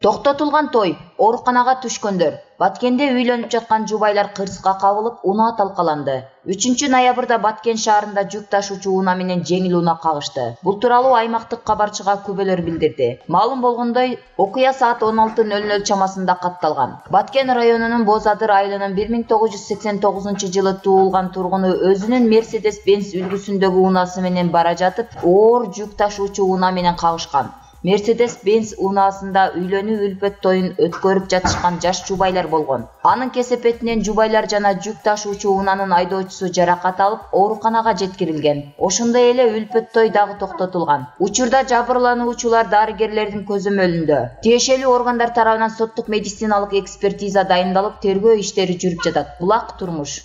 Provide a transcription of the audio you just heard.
Токтотулган той, ооруканага түшкөндөр. Баткенде үйлөнүп жаткан жубайлар кырсыкка кабылып, унаа талкаланды. 3-ноябрда Баткен шаарында жүк ташуучу унаа менен жеңил унаа кагышты. Бул тууралуу аймактык кабарчыга күбөлөр билдирди. Маалым болгондой, окуя саат 16:00 чамасында катталган. Баткен районунун Боз Адыр айылынын 1989-жылы туулган тургуну өзүнүн Mercedes-Benz үлгүсүндөгү унаасы менен бара жатып, оор жүк ташуучу унаа менен кагышкан. Mercedes-Benz унаасында үйлөнүү үлпөт тоюн өткөрүп жатышкан жаш жубайлар болгон. Анын кесепетинен жубайлар жана жүк ташуучу унаанын айдоочусу жаракат алып, ооруканага жеткирилген. Ошондой эле үлпөт той дагы токтотулган. Учурда жабырлануучулар дарыгерлердин көзөмөлүндө. Тиешелүү органдар тарабынан соттук медициналык экспертиза дайындалып, тергөө иштери жүрүп жатат. Булак турмуш.